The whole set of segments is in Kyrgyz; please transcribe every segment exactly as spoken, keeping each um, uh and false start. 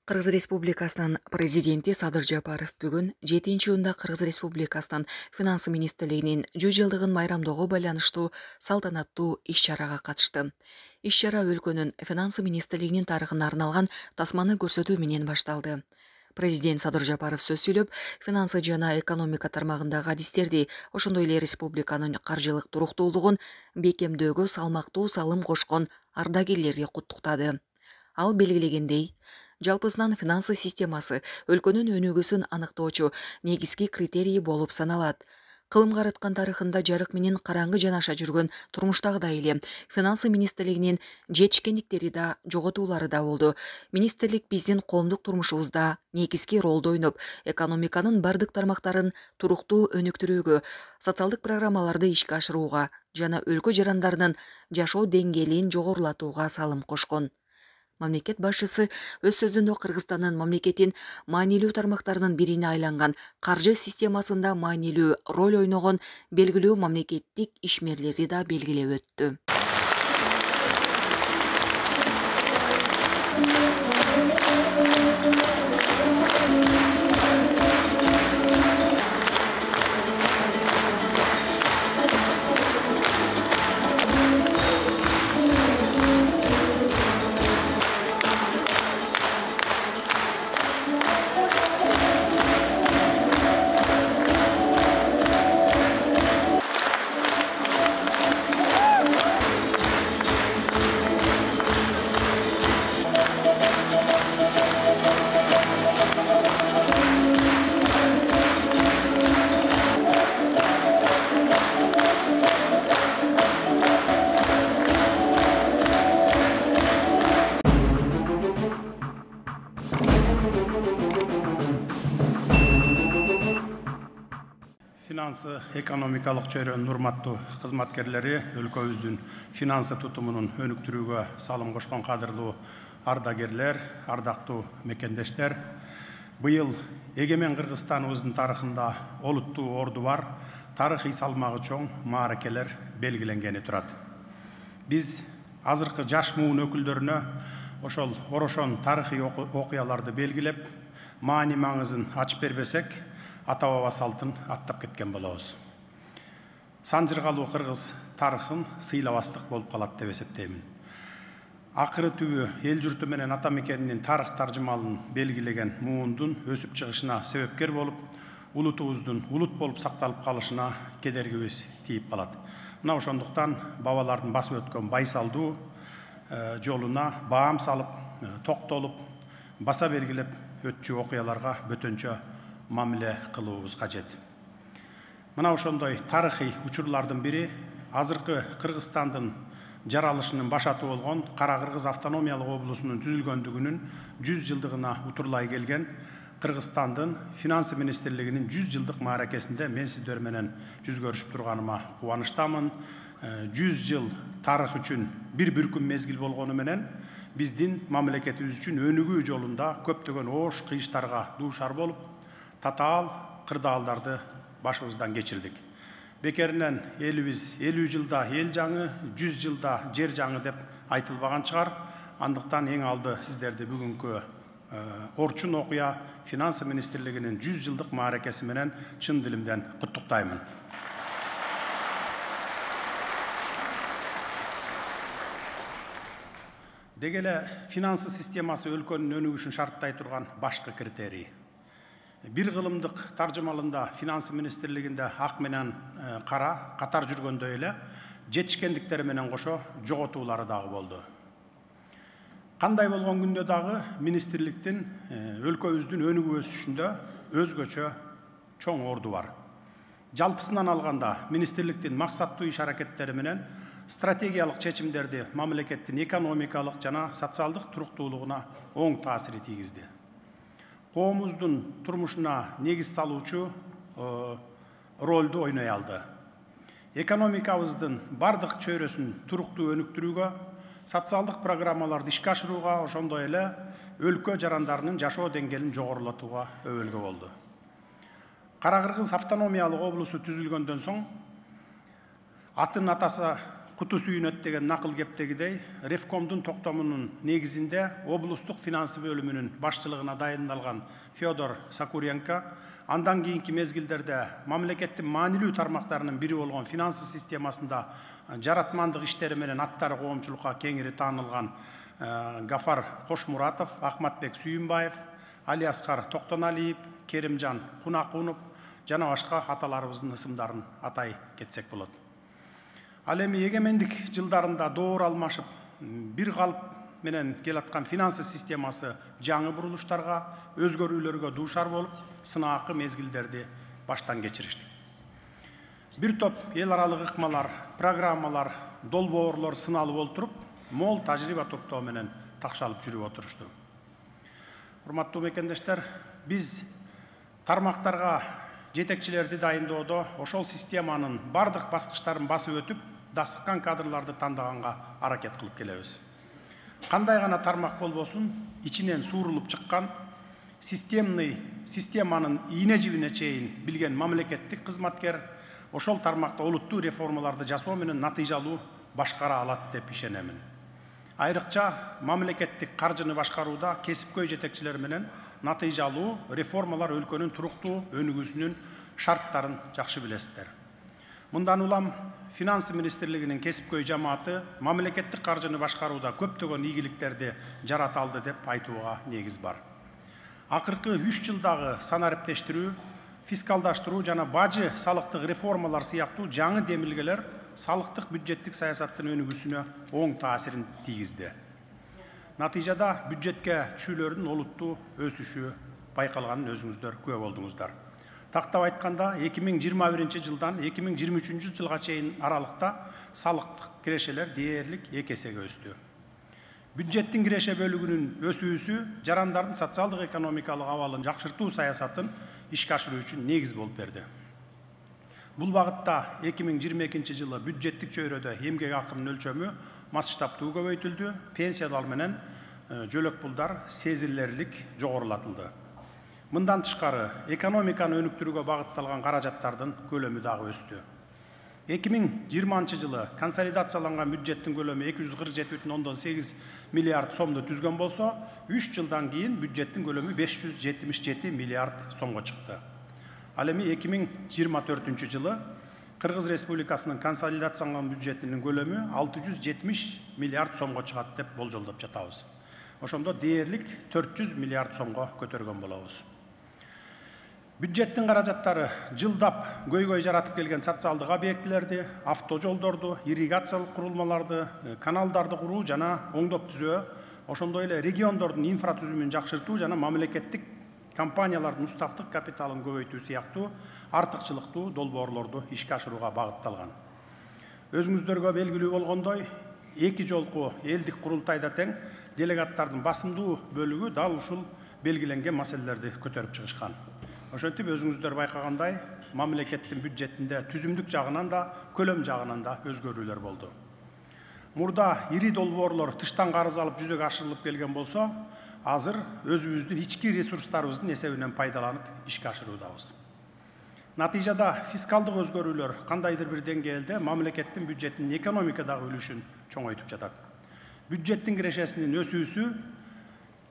Кыргыз Республикасынын президенти Садыр Жапаров бүгүн жетинчи июнда Кыргыз Республикасынын Финансы министрлигинин жүз жылдыгын майрамдоого байланыштуу салтанаттуу иш-чарага катышты. Иш-чара өлкөнүн Финансы министрлигинин тарыхына арналган тасманы көрсөтүү менен башталды. Президент Садыр Жапаров сөз сүйлөп, финансы жана экономика тармагындагы адистерди, ошондой эле республиканын каржылык туруктуулугун бекемдөөгө салмактуу салым кошкон ардагерлерди куттуктады. Ал белгилегендей, жалпысынан финансы системасы өлкөнүн өнүгүүсүн аныктоочу негизги критерий болуп саналат. Кылым караткан тарыхында жарык менен караңгы жанаша жүргөн турмуштагыдай эле финансы министрлигинин жетишкендиктери да, жоготуулары да болду. Министрлик биздин коомдук турмушубузда негизги ролду ойноп, экономиканын бардык тармактарын туруктуу өнүктүрүүгө, социалдык программаларды ишке ашырууга жана өлкө жарандарынын жашоо деңгээлин жогорулатууга салым кошкон. Мамлекет башчысы өз сөзүндө Кыргызстандын мамлекеттин маанилүү тармактарынын бирине айланган каржы системасында маанилүү роль ойногон белгилүү мамлекеттик ишмерлерди да белгилеп өттү. Финансы экономикалык чөйрөнүн урматтуу кызматкерлери, өлкөбүздүн финансы тутумунун өнүктүрүүгө салым кошкон кадырлуу ардагерлер, ардактуу мекендештер, быйыл эгемен Кыргызстаныбыздын тарыхында олуттуу орду бар, тарыхый салмагы чоң мааракелер белгиленгени турат. Биз азыркы жаш муун өкүлдөрүнө ошол орошон тарыхый окуяларды белгилеп, маани маңызын ачып бербесек, ата баба салтын аттап кеткен болобуз. Санжыргалуу кыргыз тарыхын сыйлабастык болуп калат деп эсептеймин. Акыры түбү эл журту менен ата мекенинин тарых таржымалын белгилеген муундун өсүп чыгышына себепкер болуп, улутубуздун улут болуп сакталып калышына кедергибиз тийип калат. Мына ошондуктан бабалардын басып өткөн байсалдуу жолуна баам салып, токтолуп, баса белгилеп өтчү окуяларга бөтөнчө мамиле кылуубуз кажет. Мына ошондой тарыхый учурлардын бири азыркы Кыргызстандын жаралышынын башаты болгон Кара Кыргыз автономиялык облусунун түзүлгөндүгүнүн жүз жылдыгына утурлай келген Кыргызстандын финансы министрлигинин жүз жылдык мааракесинде мен сиздер менен жүз көрүшүп турганыма кубанычтамын. жүз жыл тарых үчүн бир бүркүм мезгил болгону менен биздин мамлекетибиз үчүн өнүгүү жолунда көптөгөн оош кыйыштарга дуушар болуп, татаал кырдаалдарды башыбыздан кечирдик. Бекеринен элибиз элүү жылда эл жаңы, жүз жылда жер жаңы деп айтылбаган чыгар. Андыктан эң алды сиздерди бүгүнкү орчун окуя финансы министрлигинин жүз жылдык мааракеси менен чын дилимден куттуктаймын. Деги эле финансы системасы өлкөнүн өнүгүшүн шарттай турган башкы критерий. Бир кылымдык таржымалында финансы министрлигинде ак менен кара катар жүргөндөй эле жетишкендиктери менен кошо жоготуулары дагы болду. Кандай болгон күндө дагы министрликтин өлкөбүздүн өнүгүү өсүшүндө өзгөчө чоң орду бар. Жалпысынан алганда министрликтин максаттуу иш аракеттери менен стратегиялык чечимдерди мамлекеттин экономикалык жана социалдык туруктуулугуна оң таасир тийгизди. Коомубуздун турмушуна негиз салуучу ролду ойной алды. Экономикабыздын бардык чөйрөсүн туруктуу өнүктүрүүгө, социалдык программаларды ишке ашырууга, ошондой эле өлкө жарандарынын жашоо деңгээлин жогорулатууга өбөлгө болду. Кара Кыргыз автономиялык облусу түзүлгөндөн соң атын атаса куту сүйүнөт деген накыл кептегидей Ревкомдун токтомунун негизинде облустук финансы бөлүмүнүн башчылыгына дайындалган Федор Сокуренко андан кийинки мезгилдерде мамлекеттин маанилүү тармактарынын бири болгон финансы системасында жаратмандык иштери менен аттары коомчулукка кеңири таанылган Гафар Кошмуратов, Ахматбек Сүйүнбаев, Алиаскар Токтоналиев, Керимжан Кунакунов жана башка аталарыбыздын ысымдарын атай кетсек болот. Ал эми эгемендик жылдарында доор алмашып, бир калып менен келаткан финансы системасы жаңы бурулуштарга, өзгөрүүлөргө дуушар болуп, сынаакы мезгилдерди баштан кечириштик. Бир топ эл аралык ыкмалар, программалар, долбоорлор сыналып олтуруп, мол тажрыйба топтоо менен такшалып жүрүп отурушту. Урматтуу мекендештер, биз тармактарга жетекчилерди дайындоодо ошол системанын бардык баскычтарын басып өтүп, дасыккан кадрларды тандаганга аракет кылып келебиз. Кандай гана тармак болбосун, ичинен суурулуп чыккан, системный системанын ийне жибине чейин билген мамлекеттик кызматкер ошол тармакта олуттуу реформаларды жасоо менен натыйжалуу башкара алат деп ишенемин. Айрыкча мамлекеттик каржыны башкарууда кесипкөй жетекчилер менен натыйжалуу реформалар өлкөнүн туруктуу өнүгүүсүнүн шарттарын жакшы билесиздер. Мындан улам Финансы министрлигинин кесипкөй жамааты мамлекеттик каржыны башкарууда көптөгөн ийгиликтерди жарата алды деп айтууга негиз бар. Акыркы үч жылдагы санариптештирүү, фискалдаштыруу жана бажы салыктык реформалар сыяктуу жаңы демилгелер салыктык бюджеттик саясаттын өнүгүүсүнө оң таасирин тийгизди. Натыйжада бюджетке түшүүлөрдүн олуттуу өсүшү байкалганын өзүңүздөр күбө болдуңуздар. Тактап айтканда эки миң жыйырма биринчи жылдан эки миң жыйырма үчүнчү жылга чейин аралыкта салыктык кирешелер дээрлик эки эсеге өстү. Бюджеттин киреше бөлүгүнүн өсүүсү жарандардын социалдык экономикалык абалын жакшыртуу саясатын ишке ашыруу үчүн негиз болуп берди. Бул багытта эки миң жыйырма экинчи жылы бюджеттик чөйрөдө эмгек акынын өлчөмү масштабтуу көбөйтүлдү, пенсиялар менен жөлөк пулдар сезилерлик жогорулатылды. Мындан тышкары экономиканы өнүктүрүүгө багытталган каражаттардын көлөмү дагы өстү. эки миң жыйырманчы жылы консолидацияланган бюджеттин көлөмү эки жүз кырк жети бүтүн ондон сегиз миллиард сомду түзгөн болсо, үч жылдан кийин бюджеттин көлөмү беш жүз жетимиш жети миллиард сомго чыкты. Ал эми эки миң жыйырма төртүнчү жылы Кыргыз Республикасынын консолидацияланган бюджетинин көлөмү алты жүз жетимиш миллиард сомго чыгат деп болжолдоп жатабыз. Ошондо дээрлик төрт жүз миллиард сомго көтөргөн болобуз. Бюджеттин каражаттары жылдап көйгөй жаратып келген социалдык объектилерди, автожолдорду, ирригациялык курулмаларды, каналдарды куруу жана оңдоп түзөө, ошондой эле региондордун инфратүзүмүн жакшыртуу жана мамлекеттик компаниялардын уставдык капиталын көбөйтүү сыяктуу артыкчылыктуу долбоорлорду ишке ашырууга багытталган. Өзүңүздөргө белгилүү болгондой, эки жолку элдик курултайда тең делегаттардын басымдуу бөлүгү дал ушул белгиленген маселелерди көтөрүп чыгышкан. Ошентип өзүңүздөр байкагандай, мамлекеттин бюджетинде түзүмдүк жагынан да, көлөм жагынан да өзгөрүүлөр болду. Мурда ири долбоорлор тыштан карыз алып жүзөгө ашырылып келген болсо, азыр өзүбүздүн ички ресурстарыбыздын эсебинен пайдаланып ишке ашыруудабыз. Натыйжада фискалдык өзгөрүүлөр кандайдыр бир деңгээлде мамлекеттин бюджетинин экономикадагы үлүшүн чоңойтуп жатат. Бюджеттин кирешесинин өсүүсү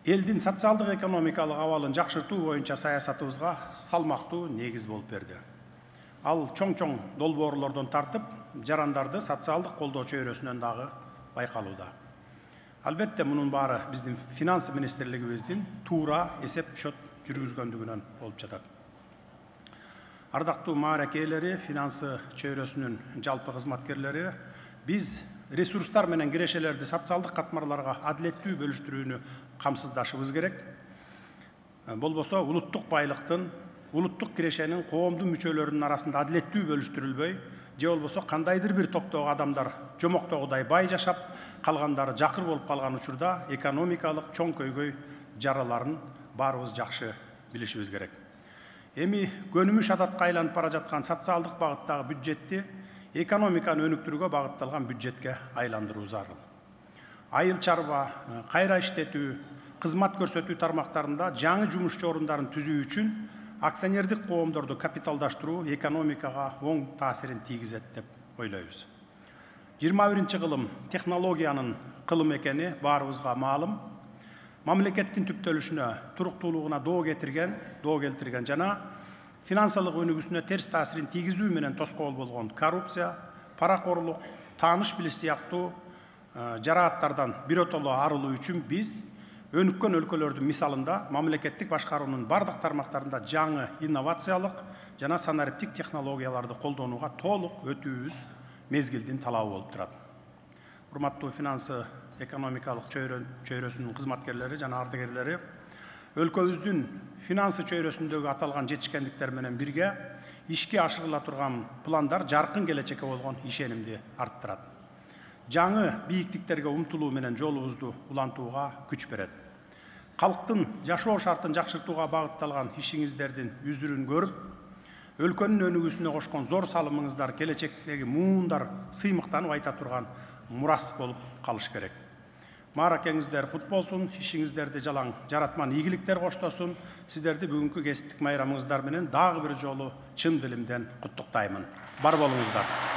элдин социалдык экономикалык абалын жакшыртуу боюнча саясатыбызга салмактуу негиз болуп берди. Ал чоң-чоң долбоорлордон тартып, жарандарды социалдык колдоо чөйрөсүнөн дагы байкалууда. Албетте, мунун баары биздин финансы министрлигибиздин туура эсеп счет жүргүзгөндүгүнөн болуп жатат. Ардактуу маарек ээлери, финансы чөйрөсүнүн жалпы кызматкерлери, биз ресурстар менен кирешелерди социалдык катмарларга адилеттүү бөлүштүрүүнү камсыздашыбыз керек. Болбосо улуттук байлыктын, улуттук кирешенин коомдун мүчөлөрүнүн арасында адилеттүү бөлүштүрүлбөй, же болбосо кандайдыр бир топтогу адамдар жомоктогудай бай жашап, калгандары жакыр болуп калган учурда экономикалык чоң көйгөй жараларын баарыбыз жакшы билишибиз керек. Эми көнүмүш адатка айланып бара жаткан социалдык багыттагы бюджетти экономиканы өнүктүрүүгө багытталган бюджетке айландыруу зарыл. Айыл чарба, кайра иштетүү, кызмат көрсөтүү тармактарында жаңы жумушчу орундарын түзүү үчүн акционердик коомдорду капиталдаштыруу экономикага оң таасирин тийгизет деп ойлойбуз. жыйырма биринчи кылым технологиянын кылым экени баарыбызга маалым. Мамлекеттин түптөлүшүнө, туруктуулугуна доо кетирген, доо келтирген жана финансылык өнүгүүсүнө терс таасирин тийгизүү менен тоскоол болгон коррупция, паракорлук, тааныш билиш сыяктуу жарааттардан биротоло арылуу үчүн биз өнүккөн өлкөлөрдүн мисалында мамлекеттик башкаруунун бардык тармактарында жаңы инновациялык жана санариптик технологияларды колдонууга толук өтүүбүз мезгилдин талабы болуп турат. Урматтуу финансы экономикалык чөйрөсүнүн кызматкерлери жана ардагерлери, өлкөбүздүн финансы чөйрөсүндөгү аталган жетишкендиктер менен бирге ишке ашырыла турган пландар жаркын келечекке болгон ишенимди арттырат. Жаңы бийиктиктерге умтулуу менен жолубузду улантууга күч берет. Калктын жашоо шартын жакшыртууга багытталган ишиңиздердин үзүрүн көрүп, өлкөнүн өнүгүүсүнө кошкон зор салымыңыздар келечектеги муундар сыймыктанып айта турган мурас болуп калыш керек. Мааракеңиздер кут болсун, ишиңиздерди жалаң жаратман ийгиликтер коштосун. Сиздерди бүгүнкү кесиптик майрамыңыздар менен дагы бир жолу чын дилимден куттуктаймын. Бар болуңуздар.